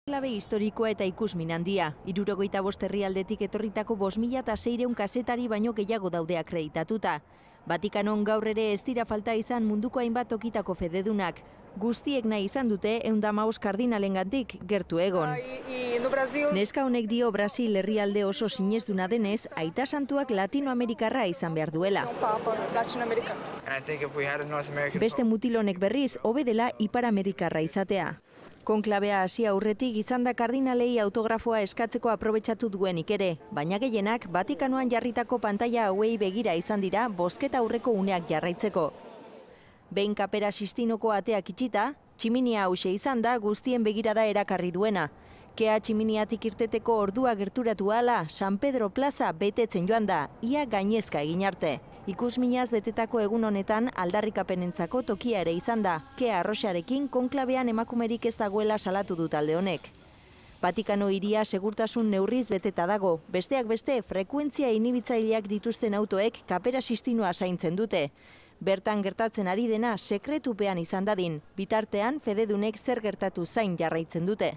Klabe historikoa eta ikusmin handia. 75 herrialdetik etorritako 5.600 kazetari baino gehiago daude akreditatuta. Vatikanon gaur ere ez dira falta izan munduko hainbat tokitako fededunak. Guztiek nahi izan dute 115 kardinalengandik gertu egon. Neska honek dio Brasil herrialde oso sinestuna denez, aita santuak Latinoamerikarra izan behar duela. Beste mutilonek berriz, hobe dela Ipar Amerikarra izatea. Konklabea hasi aurretik izan da kardinalei autografoa eskatzeko aprobetxatu duenik ere, baina gehienak Vatikanoan jarritako pantaila hauei begira izan dira bozketa aurreko uneak jarraitzeko. Behin Kapera Sistinoko ateak itxita, tximinia hause izan da guztien begirada erakarri duena. Kea tximiniatik irteteko ordua gerturatu ahala, San Pedro Plaza betetzen joan da, ia gainezka egin arte. Ikusminaz betetako egun honetan aldarrikapenentzako tokia ere izan da, Kea arroxarekin konklabean emakumerik ez dagoela salatu du talde honek. Vatikano hiria segurtasun neurriz beteta dago, besteak beste frekuentzia inibitzaileak dituzten autoek Kapera Sistinoa zaintzen dute. Bertan gertatzen ari dena sekretupean izan dadin, bitartean fededunek zer gertatu zain jarraitzen dute.